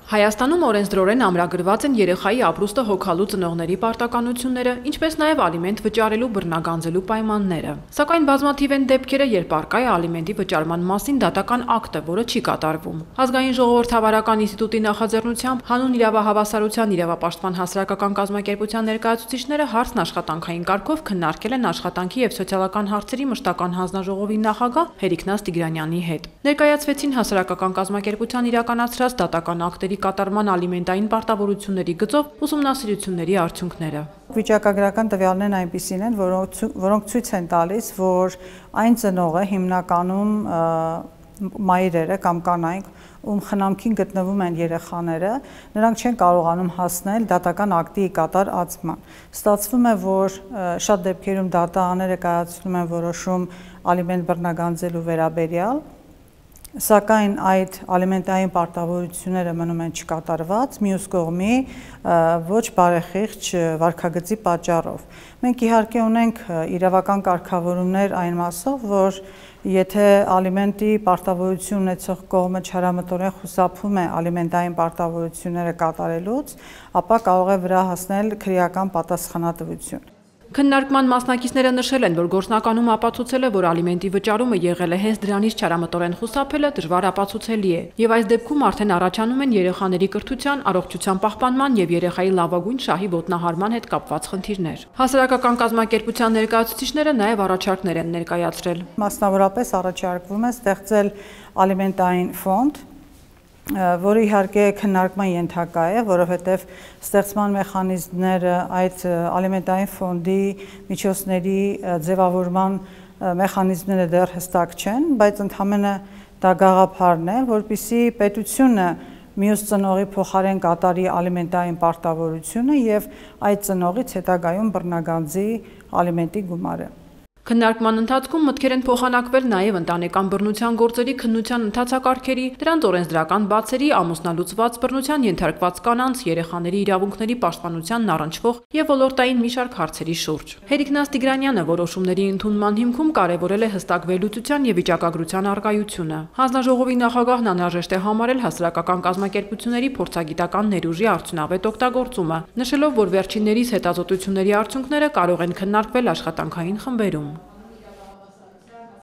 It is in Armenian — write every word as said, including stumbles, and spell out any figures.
Հայաստանում օրենսդրորեն ամրագրված են երեխայի ապրուստը հոգալու ծնողների պարտականությունները, ինչպես նաև ալիմենտ վճարելու բռնագանձելու պայմանները։ Սակայն բազմաթիվ են դեպքերը, երբ առկա է ալիմենտի վճարման մասին դատական ակտը, որը չի կատարվում։ Ազգային ժողովրդավարական ինստիտուտի նախաձեռնությամբ հանուն իրավահավասարության իրավապաշտպան հասարակական կազմակերպության ներկայացուցիչները հարցն աշխատանքային կարգով քննարկել են աշխատանքի և սոցիալական հարցերի մշտական հանձնաժողովի նախագահ Հերիքնազ Տիգրանյանի հետ։ Ներկայացվեցին հասարակական կազմակերպության իրականացրած դատական ակտերի կատարման ալիմենտային պարտավորությունների գծով ուսումնասիրությունների արդյունքները։ Վիճակագրական տվյալներն այնպիսին են, որոնք, որոնք ցույց են տալիս, որ այն ծնողը հիմնականում մայրերը կամ կանայք, ում խնամքին գտնվում են երեխաները, նրանք չեն կարողանում հասնել դատական ակտի կատարածման։ Ստացվում է, որ շատ դեպքերում դատաները կայացնում են որոշում ալիմենտ բռնագանձելու վերաբերյալ, սակայն այդ ալիմենտային պարտավորությունները մնում են չկատարված, մյուս կողմի ոչ բարեխիղճ վարքագծի պատճառով։ Մենք իհարկե ունենք իրավական կարգավորումներ այն մասով, որ եթե ալիմենտի պարտավորություն ունեցող կողմը չարամտորեն խուսափում է ալիմենտային պարտավորությունները կատարելուց, ապա կարող է վրա հասնել քրեական պատասխանատվություն։ Քննարկման մասնակիցները նշել են, որ գործնականում ապացուցել է, որ ալիմենտի վճարումը եղել է հենց դրանից չարամտորեն խուսափելը դժվար ապացուցելի է, եւ այս դեպքում արդեն առաջանում են երեխաների կրթության, առողջության պահպանման եւ երեխայի լավագույն շահի ոտնահարման հետ կապված խնդիրներ։ Հասարակական կազմակերպության ներկայացուցիչները նաեւ առաջարկներ են ներկայացրել։ Մասնավորապես առաջարկվում է ստեղծել ալիմենտային ֆոնդ, որը իհարկե քննարկման ենթակա է, որովհետև ստեղծման մեխանիզմները այդ ալիմենտային ֆոնդի միջոցների ձևավորման մեխանիզմները դեռ հստակ չեն, բայց ընդհանրապես դա գաղափարն է, որպեսզի պետությունը մյուս ծնողի փոխարեն կատարի ալիմենտային պարտավորությունը եւ այդ ծնողից հետագայում բռնագանձի ալիմենտի գումարը։ Քննարկման ընթացքում մտքեր են փոխանակվել նաև ընտանեկան բռնության գործերի քննության ընթացակարգերի, դրանց օրենսդրական բացերի, ամուսնալուծված բռնության ենթարկված կանանց, երեխաների իրավունքների պաշտպանությանն առնչվող եւ ոլորտային մի շարք հարցերի շուրջ։ Հերիքնազ Տիգրանյանը որոշումների ընդունման հիմքում կարևորել է հստակ վերլուծության եւ վիճակագրության առկայությունը։ Հանձնաժողովի նախագահն անհրաժեշտ է համարել հասարակական կազմակերպությունների փորձագիտական ներուժի արդյունավետ օգտագործումը, նշելով, որ վերջիններիս հետազոտությունների արդյունքները կարող են քննարկվել աշխատանքային խմբերում։